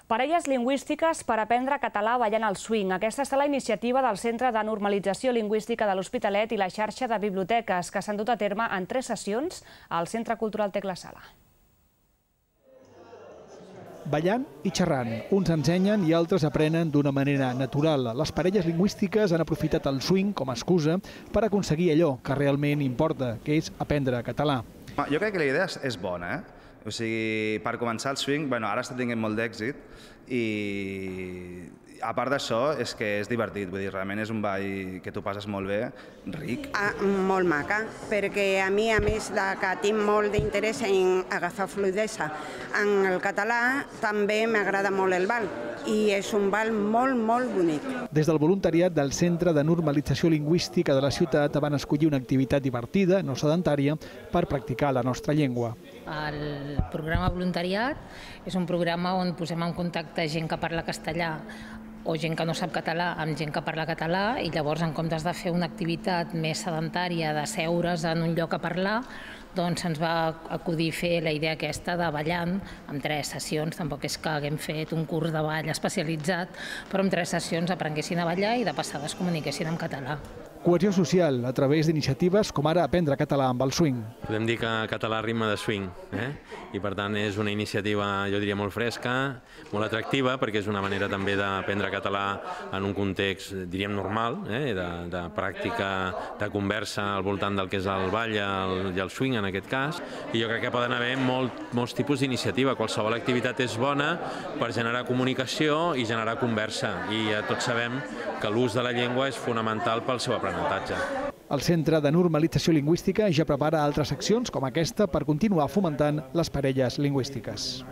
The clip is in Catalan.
Parelles lingüístiques per aprendre català ballant al swing. Aquesta és la iniciativa del Centre de Normalització Lingüística de l'Hospitalet i la xarxa de biblioteques que s'han dut a terme en 3 sessions al Centre Cultural Tecla Sala. Ballant i xerrant. Uns ensenyen i altres aprenen d'una manera natural. Les parelles lingüístiques han aprofitat el swing com a excusa per aconseguir allò que realment importa, que és aprendre català. Jo crec que la idea és bona, O sigui, per començar el swing, ara està tenint molt d'èxit i a part d'això és que és divertit, vull dir, realment és un ball que tu passes molt bé, ric. Molt maca, perquè a mi, a més que tinc molt d'interès en agafar fluïdesa en el català, també m'agrada molt el ball i és un ball molt, molt bonic. Des del voluntariat del Centre de Normalització Lingüística de la ciutat van escollir una activitat divertida, no sedentària, per practicar la nostra llengua. El programa voluntariat és un programa on posem en contacte gent que parla castellà o gent que no sap català amb gent que parla català i llavors en comptes de fer una activitat més sedentària de seure's en un lloc a parlar, doncs se'ns va acudir fer la idea aquesta de ballant en 3 sessions. Tampoc és que haguem fet un curs de ball especialitzat, però en 3 sessions aprenguessin a ballar i de passada es comuniquessin en català. Cohesió social a través d'iniciatives com ara aprendre català amb el swing. Podem dir que català rima de swing, i per tant és una iniciativa, jo diria, molt fresca, molt atractiva, perquè és una manera també d'aprendre català en un context, diríem, normal, de pràctica, de conversa al voltant del que és el ball i el swing en aquest cas, i jo crec que poden haver molts tipus d'iniciativa. Qualsevol activitat és bona per generar comunicació i generar conversa, i tots sabem que l'ús de la llengua és fonamental pel seu aprenentatge. El Centre de Normalització Lingüística ja prepara altres accions com aquesta per continuar fomentant les parelles lingüístiques.